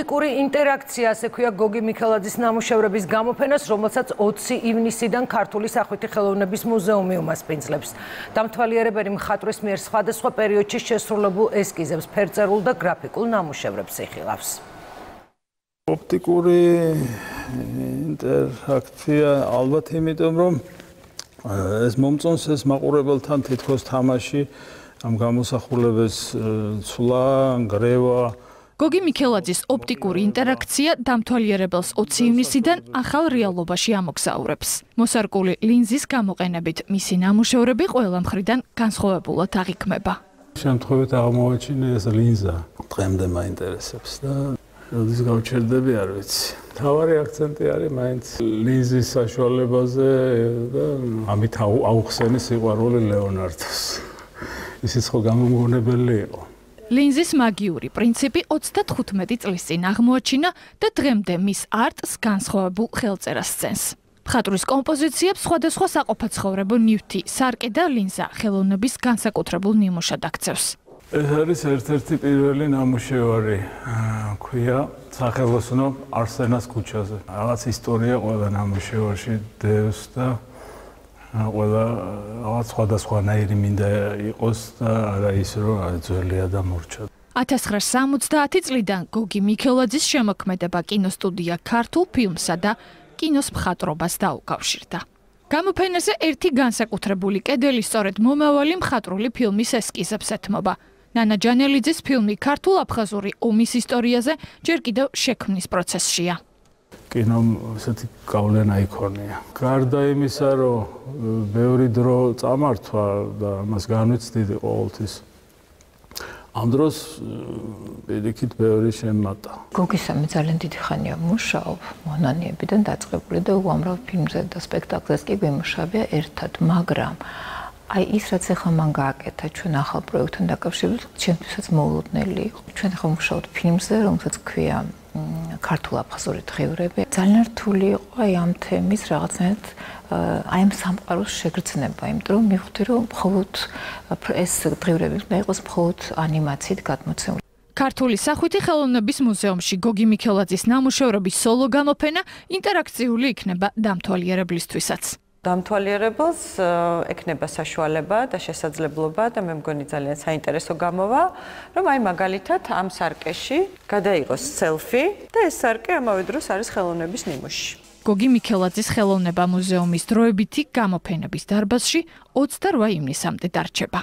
ოპტიკური ინტერაქცია, ასე ქვია გოგი მიქელაძის ნამუშევრების გამოფენას, რომელსაც 20 ივნისიდან ქართული სახვითი ხელოვნების მუზეუმი უმასპინძლებს. დამთვალიერებელი მხატვრის მიერ სხვადასხვა პერიოდში შესრულებულ ესკიზებს, ფერწერულ და გრაფიკულ ნამუშევრებს იხილავს. ოპტიკური ინტერაქცია ალბათ იმიტომ, რომ ეს მომწონს ეს მაყურებელთან თითქოს თამაში, ამ გამოსახულების ცვლა, ნგრევა. გოგი მიქელაძის ოპტიკური ინტერაქცია დამთვალიერებელს 20 ივნისიდან ახალ რეალობაში ამოგზაურებს. მოსარკული ლინზის გამოყენებით მისი ნამუშევრები ყველა მხრიდან განსხვავებულად აღიქმება. შემთხვევით აღმოვაჩინე ეს ლინზა დღემდე მაინტერესებს და როდის გავჩერდები არ ვიცი. თავარი აქცენტი არის მაინც ლინზის საშუალებაზე და ამით აუხსენი სიყვარული ლეონარდოს. ისიც ხო გამომგონებელი იყო. ლინზის მაგიური პრინციპი 35 წლის წინ აღმოაჩინა და დღემდე მის არტს განსხვავებულ ხელწერას სცემს. მხატვრის კომპოზიციებს სხვადასხვა საყოფაცხოვრებო ნივთი, სარკე და ლინზა ხელოვნების განსაკუთრებულ ნიმუშად აქცევს. ეს არის ერთ-ერთი პირველი ნამუშევარი, ქვია სახელოსნო არსენას ქუჩაზე. რაღაც ისტორია ყველა ნამუშევარში დევს და ყველა რაღაც სხვადასხვანაირი მინდა იყოს და არა ის რომ ძველია და მორჩა. 1970 წლიდან გოგი მიქელაძის შემოქმედება კინოსტუდია ქართულ ფილმსა და კინოს მხატვრობას დაუკავშირდა. გამოფენაზე ერთი განსაკუთრებული კედელი სწორედ მომავალი მხატვრული ფილმის ესკიზებს ეთმობა. ნანა ჯანელიძის ფილმი ქართულ-აფხაზური ომის ისტორიაზე ჯერ კიდევ შექმნის პროცესშია. კინომ ესეთი გავლენა იქონია. გარდა იმისა, რომ ბევრი დრო წამართვა და ამას განვიცდიდი ყოველთვის. ამ დროს პირიქით ბევრი შემატა. გოგისამი ძალიან დიდი ხანია მუშაობ, მონანიებიდან დაწყებული და უამრავ ფილმზე და სპექტაკლებს კი გვიმუშავია ერთად, მაგრამ აი ის რაც ახლა მან გააკეთა ჩვენ ახალ პროექტთან დაკავშირებით, ჩემთვისაც მოულოდნელი იყო. ჩვენ ახლა ვმუშაობთ ფილმზე, რომელსაც ქვია ქართულ-აფხაზური დღიურები. ძალიან რთული იყო აი ამ თემის რაღაცნაირად აი ამ სამყაროს შეგრძნება, იმიტომ რომ მივხვდი რომ მხოლოდ ეს დღიურები უნდა იყოს მხოლოდ ანიმაციით გადმოცემული. ქართული სახვითი ხელოვნების მუზეუმში გოგი მიქელაძის ნამუშევრების სოლო გამოფენა ინტერაქციული იქნება დამთვალიერებლისთვისაც. დამთვალიერებელს ექნება საშუალება და შესაძლებლობა და მე მგონი ძალიან საინტერესო გამოვა, რომ აი მაგალითად ამ სარკეში გადაიღოს სელფი და ეს სარკე ამავე დროს არის ხელოვნების ნიმუში. გოგი მიქელაძის ხელოვნება მუზეუმის დროებითი გამოფენების დარბაზში 28 ივნისამდე დარჩება.